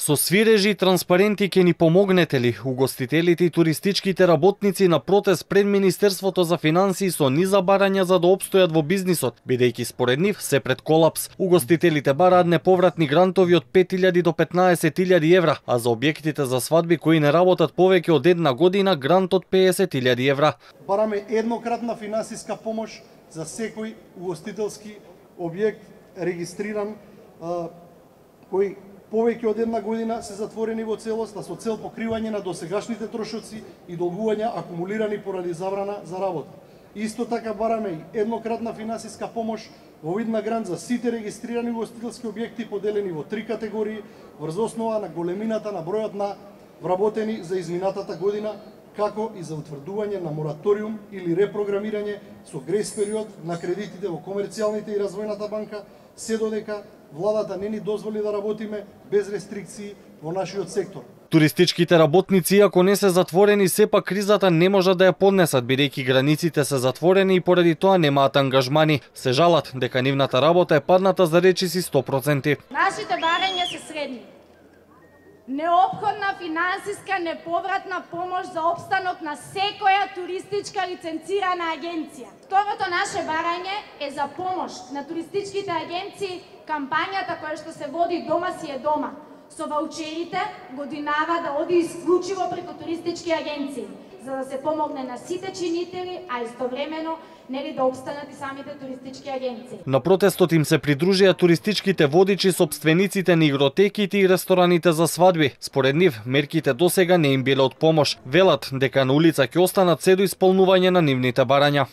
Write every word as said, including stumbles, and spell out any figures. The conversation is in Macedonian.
Со свирежи и транспаренти ќе ни помогнете ли? Угостителите и туристичките работници на протест пред Министерството за финансии со низа барања за да опстојат во бизнисот, бидејќи според нив се пред колапс. Угостителите бараат неповратни грантови од пет илјади до петнаесет илјади евра, а за објектите за свадби кои не работат повеќе од една година грант од песет илјади евра. Бараме еднократна финансиска помош за секој угостителски објект регистриран кој повеќе од една година се затворени во целост, а со цел покривање на досегашните трошоци и долгувања акумулирани поради забрана за работа. Исто така бараме и еднократна финансиска помош во вид на грант за сите регистрирани угостителски објекти поделени во три категории врз основа на големината на бројот на вработени за изминатата година, како и за утврдување на мораториум или репрограмирање со грейс период на кредитите во комерцијалните и развојната банка, се додека владата не ни дозволи да работиме без рестрикции во нашиот сектор. Туристичките работници, ако не се затворени, сепак кризата не можат да ја поднесат, бидејќи границите се затворени и поради тоа немаат ангажмани. Се жалат дека нивната работа е падната за речиси сто проценти. Нашите барања се следни. Неопходна финансиска неповратна помош за опстанок на секоја туристичка лиценцирана агенција. Второто наше барање е за помош на туристичките агенции кампањата која што се води Дома си е дома. Со ваучерите годинава да оди исклучиво преку туристички агенции, за да се помогне на сите чинители, а истовремено нели да опстанат и самите туристички агенции. На протестот им се придружија туристичките водичи, сопствениците на игротеките и рестораните за свадби. Според нив, мерките досега не им биле од помош. Велат дека на улица ќе останат се до исполнување на нивните барања.